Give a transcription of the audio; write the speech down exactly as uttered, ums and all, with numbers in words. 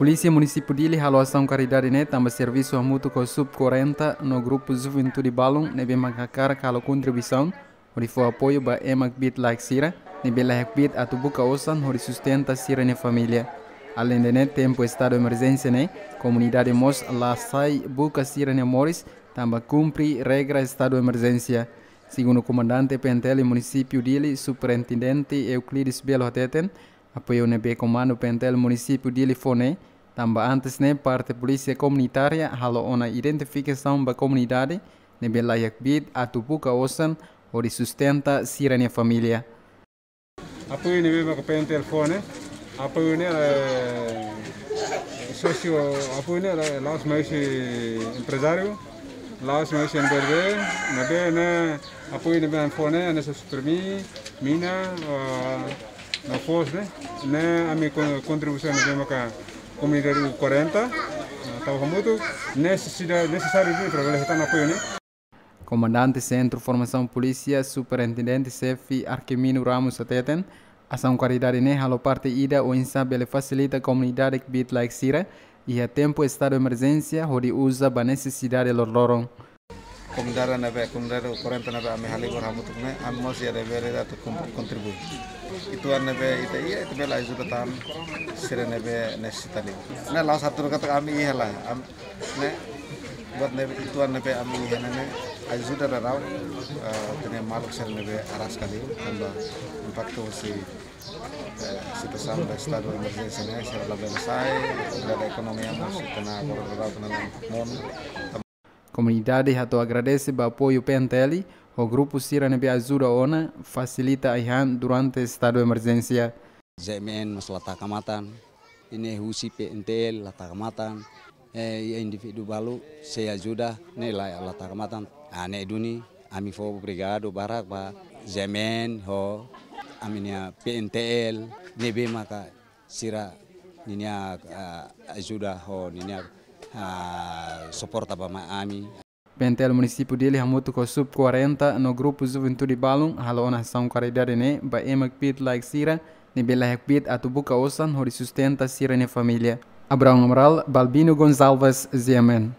Polísia Munisípiu Dili halo asaun karidade ne'e tanba servisu hamutuk ho Sub quarenta no grupu juventude balun ne'ebé mak hakarak halo kontribuisaun hodi fó apoiu ba ema kbiit laek sira ne'ebé laiha kbiit atu buka osan hodi sustenta sira-nia família. Aleinde ne'e, tempu estadu emerjénsia ne'e, komunidade mós la sai buka sira-nia moris tanba kumpre regra estadu emerjénsia. Segundu komandante P N T L Munisípiu Dili, Superintendente Euclides Belo hateten, apoiu ne'ebé Komandu P N T L Munisípiu Dili fó ne'e tanba antes ne'e parte polísia komunitária halo ona identifikasaun ba komunidade ne'ebé laiha kbiit atu buka osan hodi sustenta sira-nia família. Apoiu ne'ebé mak P N T L fó ne'e, apoiu ne'e, eh, sósiu, apoiu ne'e, eh, la'ós mai husi emprezáriu, la'ós mai husi N B L B, ne'ebé ne'e apoiu ne'ebé ami fó ne'e, hanesan supermi, mina, ah, no foos ne'e, ne'e ami kon-, kontribuisaun ne'ebé maka komunidade U quarenta, ah, tau hamutuk, nesesidade, nesesáriu ne'e para bele hetan apoiu ne'e. Komandante Sentru Formasaun Polísia, Superintendente Xefe Arquimino Ramos hateten, asaun karidade ne'e halo parte ida oinsá bele fasilita komunidade kbiit laek sira iha tempu estadu emerjénsia hodi uza ba nesesidade loroloron. Komunidade ne'ebé, komunidade U quarenta ne'ebé ami halibur hamutuk ne'e, ami mós iha devér atu kon-, kontribui. Uitoan ne'ebé ita iha, ita bele ajuda tan sira ne'ebé nesesita liu. Ne'e la'ós hatudu katak ami iha lae, am-, ne'e, buat ne'ebé uitoan ne'ebé ami iha ne'e, ne'e ajuda daudaun, eh, ita-nia maluk sira ne'ebé araska liu, tanba impaktu husi, eh, situasaun ba estadu emerjénsia ne'e, sira labele sai, sira-nia ekonomia mós, ita-nia boro daudaun, ita-nia monu. Komunidade hato'o agradese ba apoiu P N T L ho grupu sira ne'ebé ajuda ona fasilita ai-han durante estadu emerjénsia. J M N mós la taka matan, ida-ne'e husi P N T L la taka matan, eh, indivíduu balu sei ajuda, ne'e la, la taka matan. Ah, ne'e duni, ami fó obrigadu barak ba J M N ho ami-nia P N T L, ne'ebé maka sira ninia, ah, ajuda ho ninia, ah, suporta ba mai ami. P N T L Munisípiu Dili hamutuk ho Sub quarenta no grupu juventude balun halo ona asaun karidade ne'e ba ema kbiit laek sira ne'ebé laiha kbiit atu buka osan hodi sustenta sira-nia família. Abraão Amaral, Balbino Gonçalves, G M N.